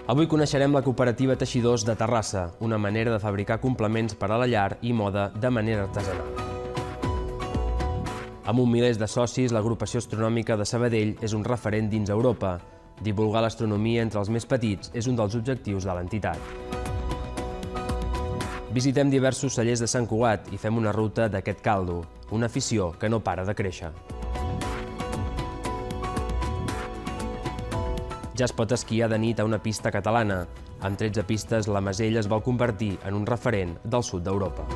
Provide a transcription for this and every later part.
Avui coneixerem la cooperativa Teixidors de Terrassa, una manera de fabricar complements per a la llar i moda de manera artesanal. Amb un miler de socis, l'agrupació astronòmica de Sabadell és un referent dins Europa. Divulgar l'astronomia entre els més petits és un dels objectius de l'entitat. Visitem diversos cellers de Sant Cugat i fem una ruta d'aquest caldo, una afició que no para de créixer. Ja es pot esquiar de nit a una pista catalana. Amb 13 pistes, la Masella es vol convertir en un referent del sud d'Europa.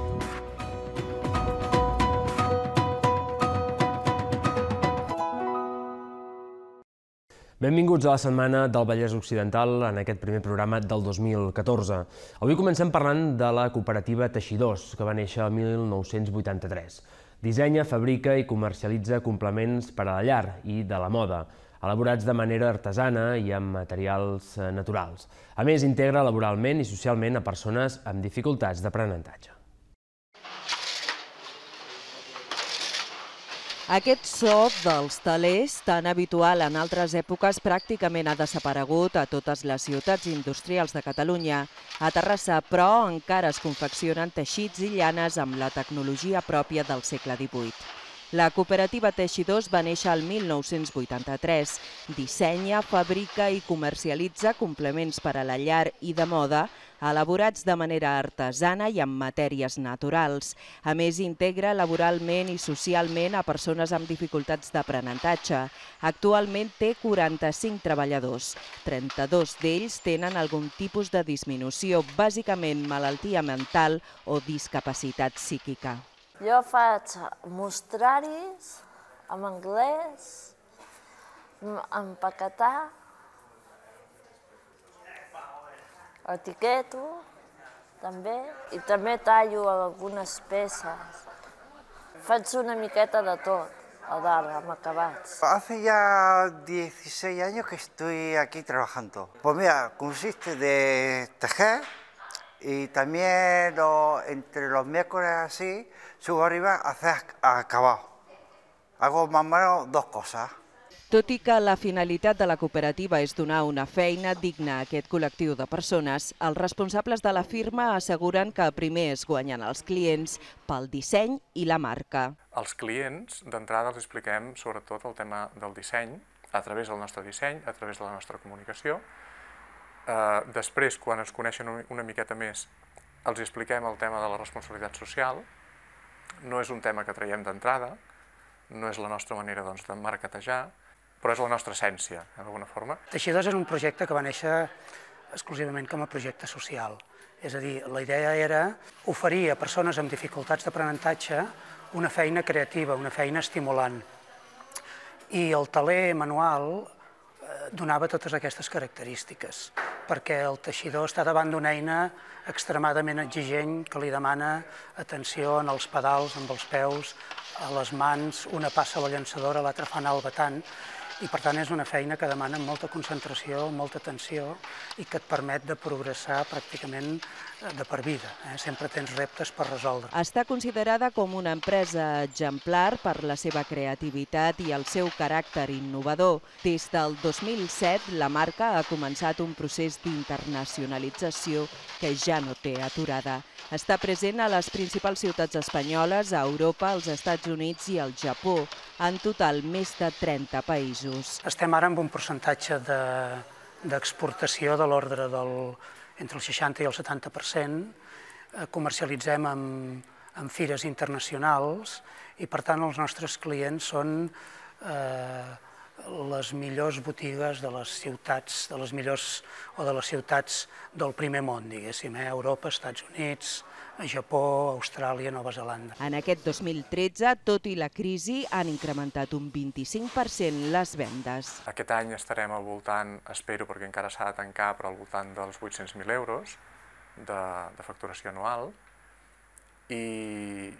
Benvinguts a la setmana del Vallès Occidental en aquest primer programa del 2014. Avui comencem parlant de la cooperativa Teixidors, que va néixer el 1983. Dissenya, fabrica i comercialitza complements per a la llar i de la moda, elaborats de manera artesana i amb materials naturals. A més, integra laboralment i socialment a persones amb dificultats d'aprenentatge. Aquest so dels telers, tan habitual en altres èpoques, pràcticament ha desaparegut a totes les ciutats industrials de Catalunya. A Terrassa, però, encara es confeccionen teixits i llanes amb la tecnologia pròpia del segle XVIII. La cooperativa Teixidors va néixer el 1983. Dissenya, fabrica i comercialitza complements per a la llar i de moda, elaborats de manera artesana i amb matèries naturals. A més, integra laboralment i socialment a persones amb dificultats d'aprenentatge. Actualment té 45 treballadors. 32 d'ells tenen algun tipus de disminució, bàsicament malaltia mental o discapacitat psíquica. Jo faig mostraris en anglès, empaquetar, etiqueto també, i també tallo algunes peces. Faig una miqueta de tot, a dalt, amb acabats. Hace ya 16 años que estoy aquí trabajando. Pues mira, consiste de tejer y también entre los miércoles así, subo arriba a hacer acabado. Hago más o menos dos cosas. Tot i que la finalitat de la cooperativa és donar una feina digna a aquest col·lectiu de persones, els responsables de la firma asseguren que primer es guanyen els clients pel disseny i la marca. Als clients, d'entrada, els expliquem sobretot el tema del disseny, a través del nostre disseny, a través de la nostra comunicació. Després, quan ens coneixen una miqueta més, els expliquem el tema de la responsabilitat social. No és un tema que traiem d'entrada, no és la nostra manera de marketejar, però és la nostra essència, d'alguna forma. Teixidors és un projecte que va néixer exclusivament com a projecte social. És a dir, la idea era oferir a persones amb dificultats d'aprenentatge una feina creativa, una feina estimulant. I el teler manual donava totes aquestes característiques, perquè el teixidor està davant d'una eina extremadament exigent que li demana atenció en els pedals, amb els peus, a les mans, una passa la llançadora, l'altra fa anar el batant, i per tant és una feina que demana molta concentració, molta atenció i que et permet de progressar pràcticament de per vida. Sempre tens reptes per resoldre. Està considerada com una empresa exemplar per la seva creativitat i el seu caràcter innovador. Des del 2007, la marca ha començat un procés d'internacionalització que ja no té aturada. Està present a les principals ciutats espanyoles, a Europa, als Estats Units i al Japó. En total, més de 30 països. Estem ara amb un percentatge d'exportació de l'ordre entre el 60 i el 70%. Comercialitzem en fires internacionals i, per tant, els nostres clients són les millors botigues de les ciutats, de les ciutats del primer món, diguéssim, Europa, Estats Units, Japó, Austràlia, Nova Zelanda. En aquest 2013, tot i la crisi, han incrementat un 25% les vendes. Aquest any estarem al voltant, espero perquè encara s'ha de tancar, però al voltant dels 800.000 euros de facturació anual. I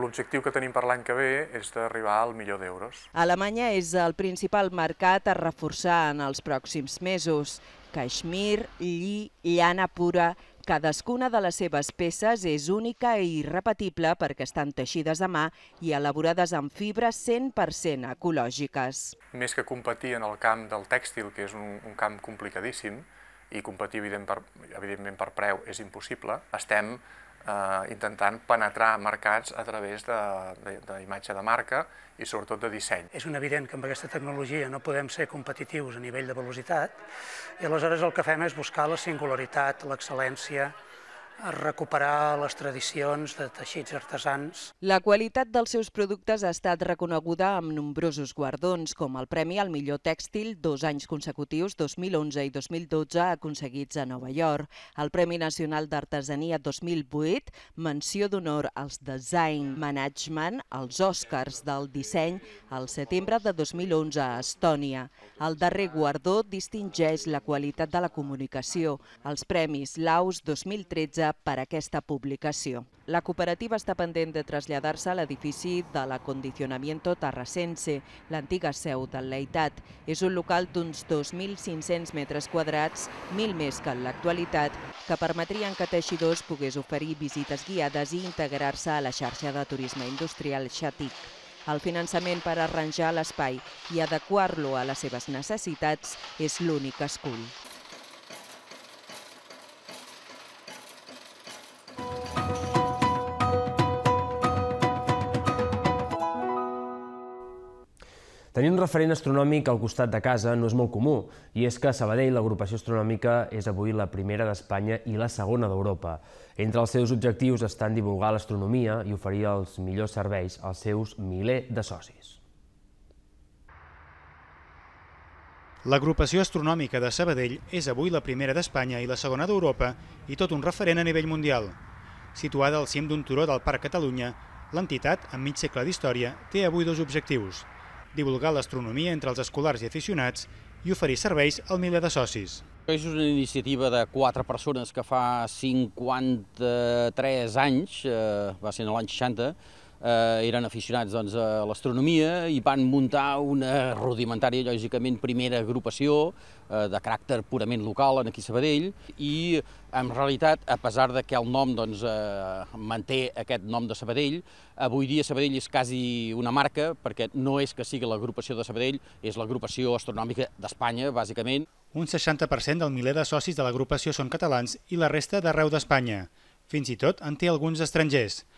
l'objectiu que tenim per l'any que ve és d'arribar al milió d'euros. Alemanya és el principal mercat a reforçar en els pròxims mesos. Caixmir, lli, llana pura. Cadascuna de les seves peces és única i irrepetible perquè estan teixides a mà i elaborades amb fibres 100% ecològiques. Més que competir en el camp del tèxtil, que és un camp complicadíssim, i competir evidentment per preu és impossible, estem intentant penetrar mercats a través d'imatge de marca i sobretot de disseny. És evident que amb aquesta tecnologia no podem ser competitius a nivell de velocitat i aleshores el que fem és buscar la singularitat, l'excel·lència, recuperar les tradicions de teixits artesans. La qualitat dels seus productes ha estat reconeguda amb nombrosos guardons, com el Premi al millor tèxtil 2 anys consecutius, 2011 i 2012, aconseguits a Nova York, el Premi Nacional d'Artesania 2008, menció d'honor als Design Management, als Oscars del disseny, al setembre de 2011 a Estònia. El darrer guardó distingeix la qualitat de la comunicació, els Premis Laus 2013 per aquesta publicació. La cooperativa està pendent de traslladar-se a l'edifici de l'Acondicionamiento Tarrasense, l'antiga seu del Leitat. És un local d'uns 2.500 metres quadrats, 1.000 més que en l'actualitat, que permetrien que Teixidors pogués oferir visites guiades i integrar-se a la xarxa de turisme industrial Xatic. El finançament per arranjar l'espai i adequar-lo a les seves necessitats és l'únic que escull. Tenir un referent astronòmic al costat de casa no és molt comú, i és que a Sabadell l'agrupació astronòmica és avui la primera d'Espanya i la segona d'Europa. Entre els seus objectius estan divulgar l'astronomia i oferir els millors serveis als seus miler de socis. L'agrupació astronòmica de Sabadell és avui la primera d'Espanya i la segona d'Europa i tot un referent a nivell mundial. Situada al cim d'un turó del Parc Catalunya, l'entitat, amb mig segle d'història, té avui 2 objectius: divulgar l'astronomia entre els escolars i aficionats i oferir serveis al miler de socis. És una iniciativa de 4 persones que fa 53 anys, va ser l'any 60, eren aficionats a l'astronomia i van muntar una rudimentària, lògicament, primera agrupació de caràcter purament local aquí a Sabadell i, en realitat, a pesar que el nom manté aquest nom de Sabadell, avui dia Sabadell és quasi una marca perquè no és que sigui l'agrupació de Sabadell, és l'agrupació astronòmica d'Espanya, bàsicament. Un 60% del miler de socis de l'agrupació són catalans i la resta d'arreu d'Espanya. Fins i tot en té alguns estrangers.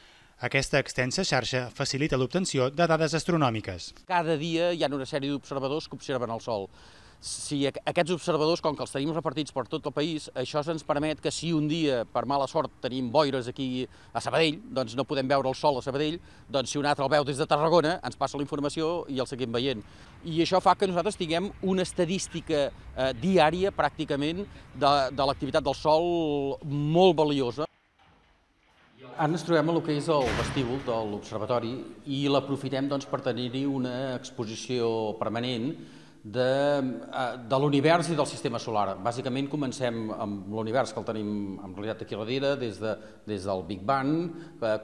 Aquesta extensa xarxa facilita l'obtenció de dades astronòmiques. Cada dia hi ha una sèrie d'observadors que observen el Sol. Si aquests observadors, com que els tenim repartits per tot el país, això ens permet que si un dia, per mala sort, tenim boires aquí a Sabadell, doncs no podem veure el Sol a Sabadell, doncs si un altre el veu des de Tarragona, ens passa la informació i el seguim veient. I això fa que nosaltres tinguem una estadística diària, pràcticament, de l'activitat del Sol molt valiosa. Ara ens trobem a el que és el vestíbul de l'observatori i l'aprofitem per tenir-hi una exposició permanent de l'univers i del sistema solar. Bàsicament comencem amb l'univers que el tenim en realitat aquí darrere, des del Big Bang,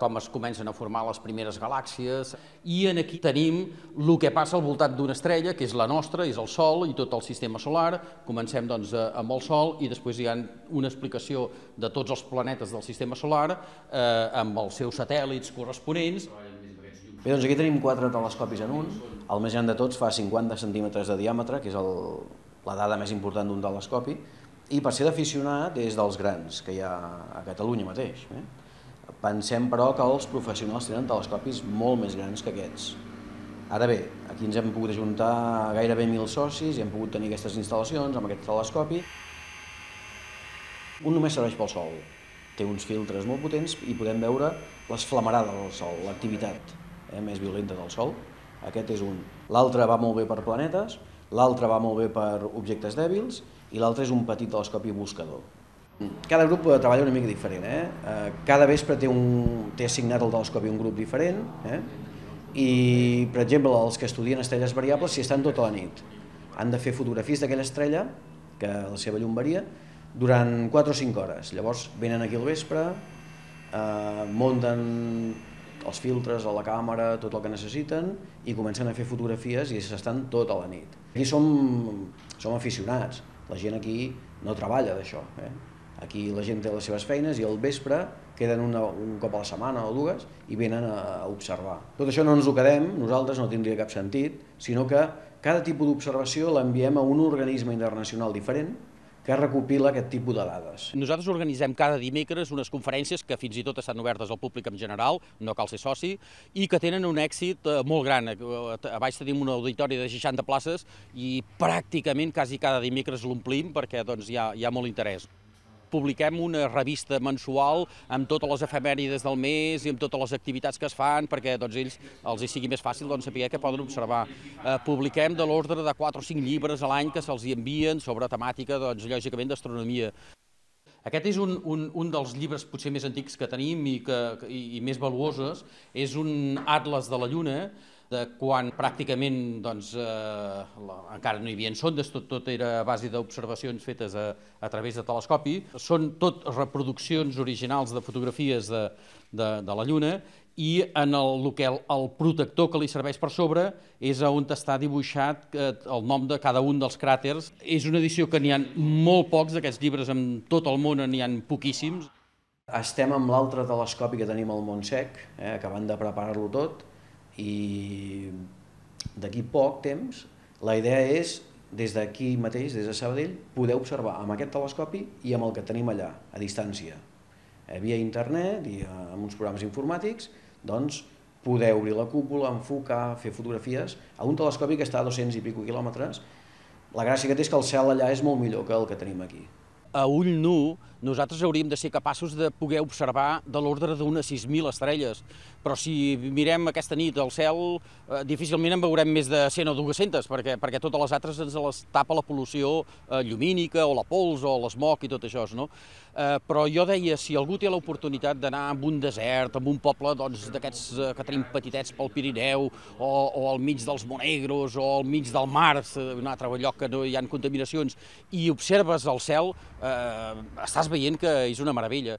com es comencen a formar les primeres galàxies, i aquí tenim el que passa al voltant d'una estrella, que és la nostra, és el Sol i tot el sistema solar. Comencem amb el Sol i després hi ha una explicació de tots els planetes del sistema solar amb els seus satèl·lits corresponents. Bé, doncs aquí tenim 4 telescopis en un. El més gran de tots fa 50 centímetres de diàmetre, que és la dada més important d'un telescopi, i per ser d'aficionat és dels grans que hi ha a Catalunya mateix. Pensem, però, que els professionals tenen telescopis molt més grans que aquests. Ara bé, aquí ens hem pogut ajuntar gairebé 1.000 socis i hem pogut tenir aquestes instal·lacions amb aquest telescopi. Un només serveix pel Sol. Té uns filtres molt potents i podem veure les flamarades del Sol, l'activitat més violenta del Sol. Aquest és un. L'altre va molt bé per planetes, l'altre va molt bé per objectes dèbils i l'altre és un petit telescopi buscador. Cada grup treballa una mica diferent. Cada vespre té assignat el telescopi un grup diferent i, per exemple, els que estudien estrelles variables s'hi estan tota la nit. Han de fer fotografies d'aquella estrella, que la seva llum varia, durant 4 o 5 hores. Llavors venen aquí al vespre, munten els filtres a la càmera, tot el que necessiten, i comencen a fer fotografies i s'estan tota la nit. Aquí som aficionats, la gent aquí no treballa d'això. Aquí la gent té les seves feines i al vespre queden un cop a la setmana o 2 i venen a observar. Tot això no ens ho quedem, nosaltres no tindria cap sentit, sinó que cada tipus d'observació l'enviem a un organisme internacional diferent que recopila aquest tipus de dades. Nosaltres organitzem cada dimecres unes conferències que fins i tot estan obertes al públic en general, no cal ser soci, i que tenen un èxit molt gran. A baix tenim un auditori de 60 places i pràcticament quasi cada dimecres l'omplim perquè hi ha molt interès. Publiquem una revista mensual amb totes les efemèrides del mes i amb totes les activitats que es fan perquè ells els sigui més fàcil saber què poden observar. Publiquem de l'ordre de 4 o 5 llibres a l'any que se'ls envien sobre temàtica, lògicament, d'astronomia. Aquest és un dels llibres potser més antics que tenim i més valuosos. És un atles de la Lluna, de quan pràcticament encara no hi havia sondes, tot era a base d'observacions fetes a través de telescopi. Són tot reproduccions originals de fotografies de la Lluna i en el protector que li serveix per sobre és on està dibuixat el nom de cada un dels cràters. És una edició que n'hi ha molt pocs d'aquests llibres, en tot el món n'hi ha poquíssims. Estem amb l'altre telescopi que tenim al Montsec, acabant de preparar-lo tot, i d'aquí poc temps la idea és, des d'aquí mateix, des de Sabadell, poder observar amb aquest telescopi i amb el que tenim allà, a distància. Via internet i amb uns programes informàtics, doncs poder obrir la cúpula, enfocar, fer fotografies a un telescopi que està a 200 i pico quilòmetres. La gràcia que té és que el cel allà és molt millor que el que tenim aquí. A ull nu, nosaltres hauríem de ser capaços de poder observar de l'ordre d'unes 6.000 estrelles, però si mirem aquesta nit al cel, difícilment en veurem més de 100 o 200, perquè totes les altres ens les tapa la pol·lució llumínica, o la pols, o l'esmog i tot això, no? Però jo deia, si algú té l'oportunitat d'anar a un desert, a un poble d'aquests que tenim petitets pel Pirineu, o al mig dels Monegros, o al mig del mar, un altre lloc que no hi ha contaminacions, i observes el cel, estàs veient que és una meravella.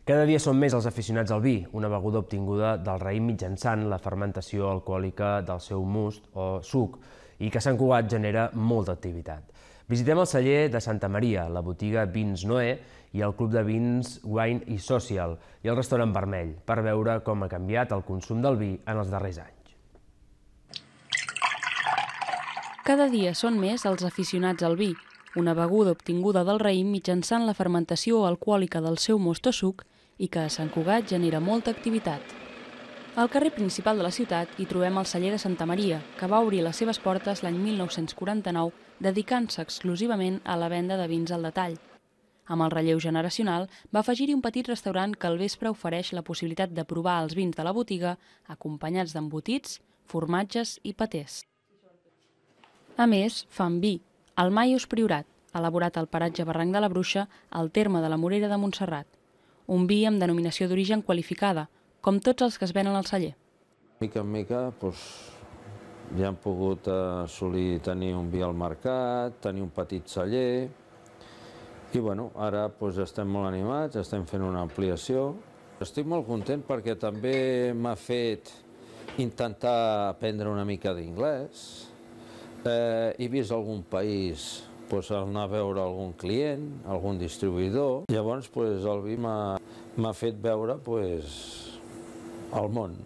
Cada dia són més els aficionats al vi, una beguda obtinguda del raïm mitjançant la fermentació alcohòlica del seu must o suc, i que a Sant Cugat genera molta activitat. Visitem el celler de Santa Maria, la botiga Vins Noé i el club de vins Wine i Social i el restaurant Vermell, per veure com ha canviat el consum del vi en els darrers anys. Cada dia són més els aficionats al vi, una beguda obtinguda del raïm mitjançant la fermentació alcohòlica del seu most o suc i que a Sant Cugat genera molta activitat. Al carrer principal de la ciutat hi trobem el celler de Santa Maria, que va obrir les seves portes l'any 1949, dedicant-se exclusivament a la venda de vins al detall. Amb el relleu generacional, va afegir-hi un petit restaurant que al vespre ofereix la possibilitat de provar els vins de la botiga, acompanyats d'embotits, formatges i patés. A més, fan vi, el Maios Priorat, elaborat al paratge Barranc de la Bruixa, al terme de la Morera de Montserrat. Un vi amb denominació d'origen qualificada, com tots els que es venen al celler. Mica en mica ja hem pogut assolir tenir un vi al mercat, tenir un petit celler, i ara estem molt animats, estem fent una ampliació. Estic molt content perquè també m'ha fet intentar aprendre una mica d'inglès. He vist algun país anar a veure algun client, algun distribuïdor. Llavors el vi m'ha fet veure el món.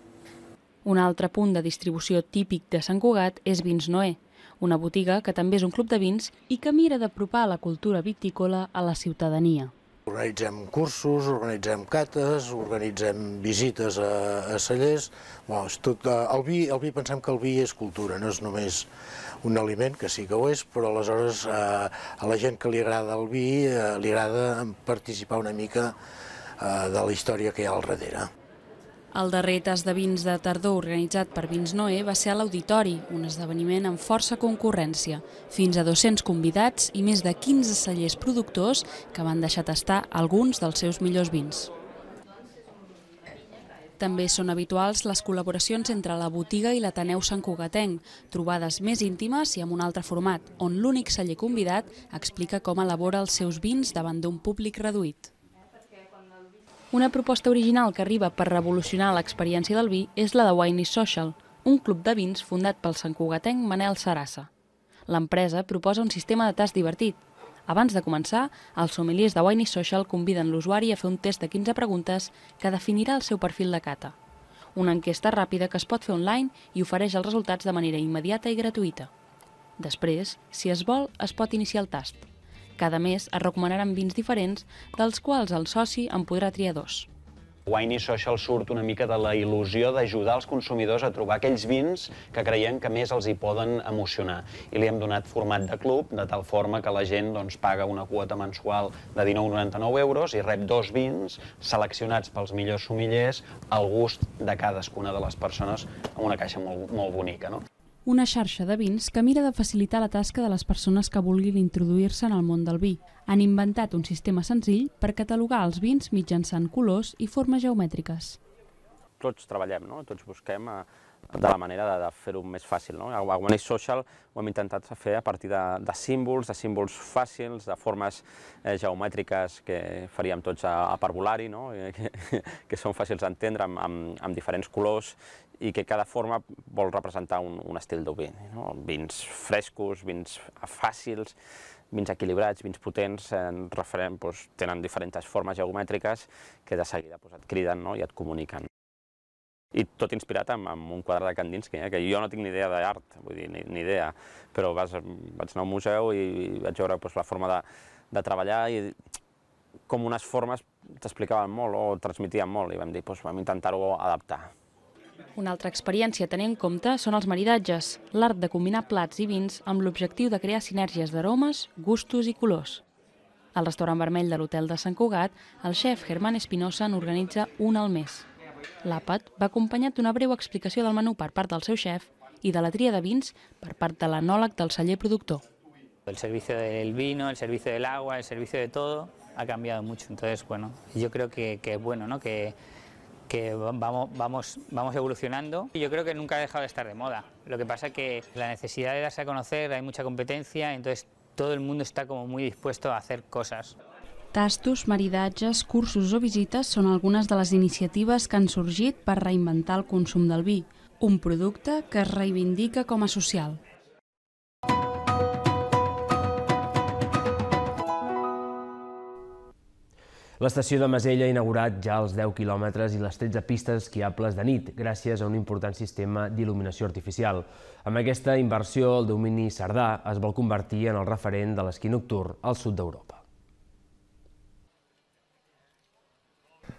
Un altre punt de distribució típic de Sant Cugat és Vins Noé, una botiga que també és un club de vins i que mira d'apropar la cultura vitícola a la ciutadania. Organitzem cursos, organitzem cates, organitzem visites a cellers. El vi, pensem que el vi és cultura, no és només un aliment, que sí que ho és, però aleshores a la gent que li agrada el vi li agrada participar una mica de la història que hi ha al darrere. El darrer tas de vins de tardor organitzat per Vins Noé va ser a l'Auditori, un esdeveniment amb força concurrència, fins a 200 convidats i més de 15 cellers productors que van deixar tastar alguns dels seus millors vins. També són habituals les col·laboracions entre la botiga i l'Ateneu santcugatenc, trobades més íntimes i amb un altre format, on l'únic celler convidat explica com elabora els seus vins davant d'un públic reduït. Una proposta original que arriba per revolucionar l'experiència del vi és la de Wine i Social, un club de vins fundat pel santcugatenc Manel Sarassa. L'empresa proposa un sistema de tast divertit. Abans de començar, els sommeliers de Wine i Social conviden l'usuari a fer un test de 15 preguntes que definirà el seu perfil de cata. una enquesta ràpida que es pot fer online i ofereix els resultats de manera immediata i gratuïta. Després, si es vol, es pot iniciar el tast. Cada mes es recomanaran vins diferents, dels quals el soci en podrà triar 2. Wine Social surt una mica de la il·lusió d'ajudar els consumidors a trobar aquells vins que creiem que més els hi poden emocionar. I li hem donat format de club, de tal forma que la gent paga una quota mensual de 19,99 euros i rep 2 vins seleccionats pels millors sommeliers al gust de cadascuna de les persones amb una caixa molt bonica, no? Una xarxa de vins que mira de facilitar la tasca de les persones que vulguin introduir-se en el món del vi. Han inventat un sistema senzill per catalogar els vins mitjançant colors i formes geomètriques. Tots treballem, tots busquem de la manera de fer-ho més fàcil. A Wine Social ho hem intentat fer a partir de símbols fàcils, de formes geomètriques que faríem tots a parvulari, que són fàcils d'entendre amb diferents colors i que cada forma vol representar un estil de vi. Vins frescos, vins fàcils, vins equilibrats, vins potents, tenen diferents formes geomètriques que de seguida et criden i et comuniquen. I tot inspirat amb un quadre de Kandinsky, que jo no tinc ni idea d'art, vull dir, ni idea, però vaig anar a un museu i vaig veure la forma de treballar i com unes formes t'explicaven molt o transmetien molt i vam dir, vam intentar-ho adaptar. Una altra experiència a tenir en compte són els maridatges, l'art de combinar plats i vins amb l'objectiu de crear sinergies d'aromes, gustos i colors. Al restaurant vermell de l'Hotel de Sant Cugat, el xef Germán Espinosa n'organitza un al mes. L'àpat va acompanyat d'una breu explicació del menú per part del seu xef i de la tria de vins per part de l'enòleg del celler productor. El servicio del vino, el servicio del agua, el servicio de todo ha cambiado mucho. Entonces, yo creo que es bueno, ¿no? Que vamos evolucionando. Yo creo que nunca ha dejado de estar de moda. Lo que pasa es que la necesidad de darse a conocer, hay mucha competencia, entonces todo el mundo está como muy dispuesto a hacer cosas. Tastos, maridatges, cursos o visites són algunes de les iniciatives que han sorgit per reinventar el consum del vi, un producte que es reivindica com a social. L'estació de Masella ha inaugurat ja els 10 quilòmetres i les 13 pistes esquiables de nit, gràcies a un important sistema d'il·luminació artificial. Amb aquesta inversió, el domini Cerdà es vol convertir en el referent de l'esquí nocturn al sud d'Europa.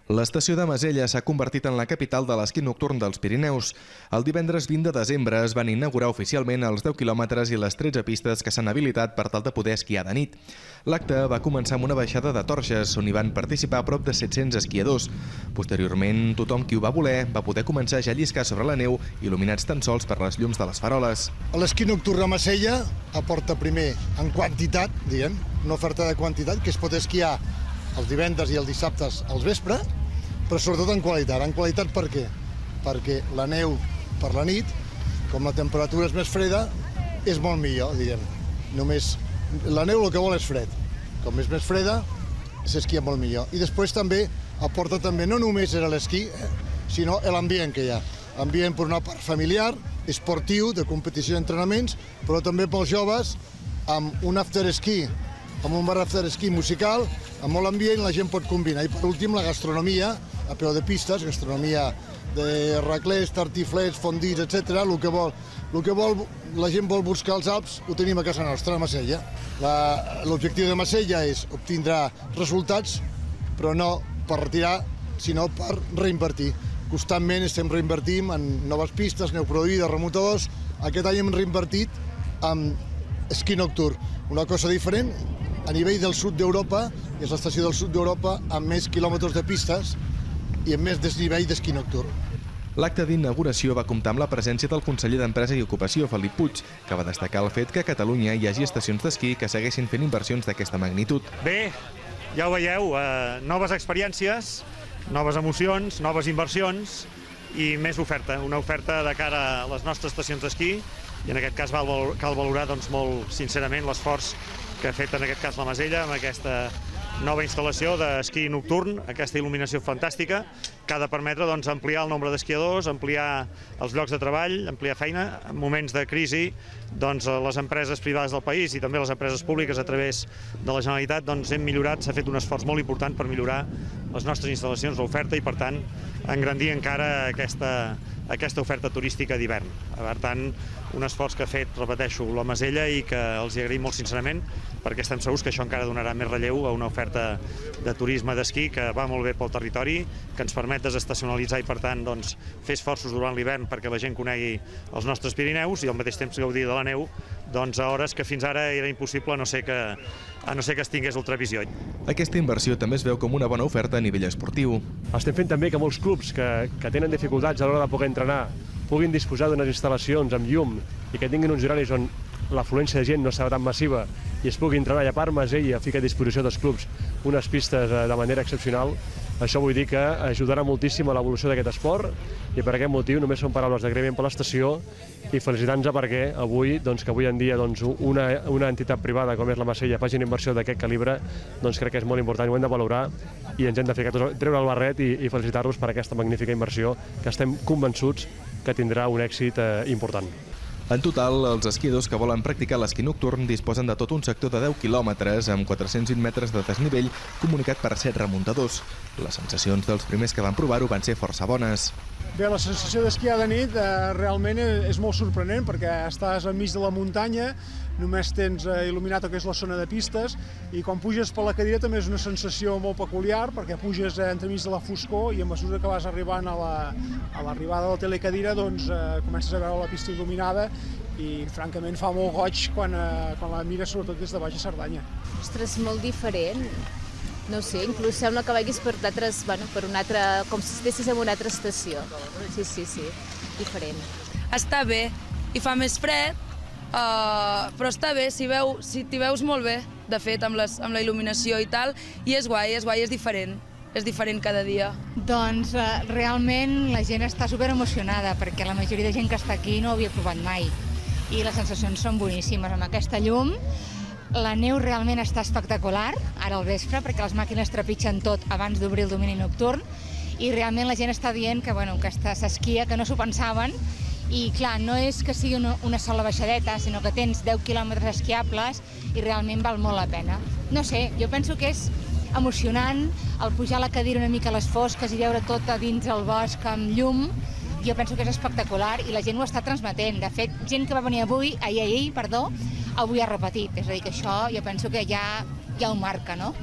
L'estació de Masella s'ha convertit en la capital de l'esquí nocturn dels Pirineus. El divendres 20 de desembre es van inaugurar oficialment els 10 quilòmetres i les 13 pistes que s'han habilitat per tal de poder esquiar de nit. L'acte va començar amb una baixada de torxes, on hi van participar prop de 700 esquiadors. Posteriorment, tothom qui ho va voler va poder començar ja a lliscar sobre la neu, il·luminats tan sols per les llums de les faroles. L'esquí nocturn a Masella aporta primer en quantitat, una oferta de quantitat, que es pot esquiar els divendres i els dissabtes als vespre, però sobretot en qualitat. En qualitat per què? Perquè la neu per la nit, com la temperatura és més freda, és molt millor, Només la neu el que vol és fred. Com és més freda, s'esquia molt millor. I després també aporta no només l'esquí, sinó l'ambient que hi ha. Ambient per una part familiar, esportiu, de competició d'entrenaments, però també pels joves, amb un after-esquí, amb un bar after-esquí musical, amb molt ambient, la gent pot combinar. I per últim, la gastronomia, a peu de pistes, gastronomia de raclets, tartiflets, fondits, etc. El que la gent vol buscar als Alps ho tenim a casa nostra, a Masella. L'objectiu de Masella és obtindre resultats, però no per retirar, sinó per reinvertir. Constantment estem reinvertint en noves pistes, neu produïda, remotadors. Aquest any hem reinvertit en esquí nocturn, una cosa diferent. A nivell del sud d'Europa, és l'estació del sud d'Europa amb més quilòmetres de pistes i amb més desnivell d'esquí nocturn. L'acte d'inauguració va comptar amb la presència del conseller d'Empresa i Ocupació, Felip Puig, que va destacar el fet que a Catalunya hi hagi estacions d'esquí que segueixin fent inversions d'aquesta magnitud. Bé, ja ho veieu, noves experiències, noves emocions, noves inversions i més oferta, una oferta de cara a les nostres estacions d'esquí i en aquest cas cal valorar molt sincerament l'esforç que ha fet en aquest cas la Masella amb aquesta nova instal·lació d'esquí nocturn, aquesta il·luminació fantàstica, que ha de permetre ampliar el nombre d'esquiadors, ampliar els llocs de treball, ampliar feina. En moments de crisi, les empreses privades del país i també les empreses públiques a través de la Generalitat hem millorat, s'ha fet un esforç molt important per millorar les nostres instal·lacions, l'oferta i, per tant, engrandir encara aquesta oferta turística d'hivern. Per tant, un esforç que ha fet, repeteixo, la Masella i que els hi agraïm molt sincerament, perquè estem segurs que això encara donarà més relleu a una oferta de turisme d'esquí que va molt bé pel territori, que ens permet desestacionalitzar i, per tant, fer esforços durant l'hivern perquè la gent conegui els nostres Pirineus i al mateix temps gaudir de la neu a hores que fins ara era impossible, a no ser que es tingués ultravisió. Aquesta inversió també es veu com una bona oferta a nivell esportiu. Estem fent també que molts clubs que tenen dificultats a l'hora de poder entrenar puguin disposar d'unes instal·lacions amb llum i que tinguin uns horaris on l'afluència de gent no serà tan massiva i es pugui entrenar. I a part, Masella fica a disposició dels clubs unes pistes de manera excepcional. Això vull dir que ajudarà moltíssim a l'evolució d'aquest esport i per aquest motiu només són paraules d'agraïment per l'estació i felicitar-nos perquè avui, que avui en dia una entitat privada com és la Masella faci una inversió d'aquest calibre, crec que és molt important, ho hem de valorar i ens hem de treure el barret i felicitar-los per aquesta magnífica inversió que estem convençuts que tindrà un èxit important. En total, els esquiadors que volen practicar l'esquí nocturn disposen de tot un sector de 10 quilòmetres amb 420 metres de desnivell comunicat per 7 remuntadors. Les sensacions dels primers que van provar-ho van ser força bones. Bé, la sensació d'esquiar de nit realment és molt sorprenent perquè estàs enmig de la muntanya, només tens il·luminat el que és la zona de pistes i quan puges per la cadira també és una sensació molt peculiar perquè puges entremig de la foscor i a mesura que vas arribant a l'arribada de la telecadira comences a veure la pista il·luminada i francament fa molt goig quan la mires sobretot des de baix a Cerdanya. Ostres, molt diferent. No sé, inclús sembla que vagis per un altre, com si estessis en una altra estació. Sí, diferent. Està bé i fa més fred, però està bé, si t'hi veus molt bé, de fet, amb la il·luminació i tal, i és guai, és diferent cada dia. Doncs realment la gent està superemocionada perquè la majoria de gent que està aquí no ho havia provat mai i les sensacions són boníssimes amb aquesta llum. La neu realment està espectacular, ara al vespre, perquè les màquines trepitgen tot abans d'obrir el domini nocturn i realment la gent està dient que s'esquia, que no s'ho pensaven i clar, no és que sigui una sola baixadeta, sinó que tens 10 quilòmetres esquiables i realment val molt la pena. No sé, jo penso que és emocionant el pujar a la cadira una mica a les fosques i veure tot a dins el bosc amb llum. Jo penso que és espectacular i la gent ho està transmetent. De fet, gent que va venir avui ha repetit. És a dir, que això jo penso que ja ho marca, no?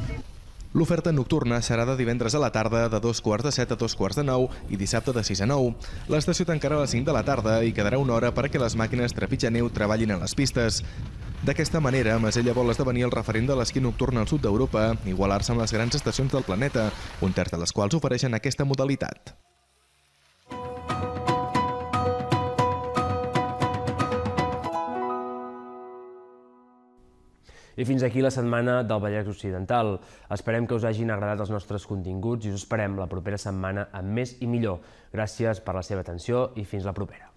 L'oferta nocturna serà de divendres a la tarda de 7:15 a 9:15 i dissabte de 6 a 9. L'estació tancarà a les 5 de la tarda i quedarà una hora perquè les màquines trepitja neu treballin a les pistes. D'aquesta manera, Masella vol esdevenir el referent de l'esquí nocturn al sud d'Europa, igualar-se amb les grans estacions del planeta, un terç de les quals ofereixen aquesta modalitat. I fins aquí la setmana del Vallès Occidental. Esperem que us hagin agradat els nostres continguts i us esperem la propera setmana amb més i millor. Gràcies per la seva atenció i fins la propera.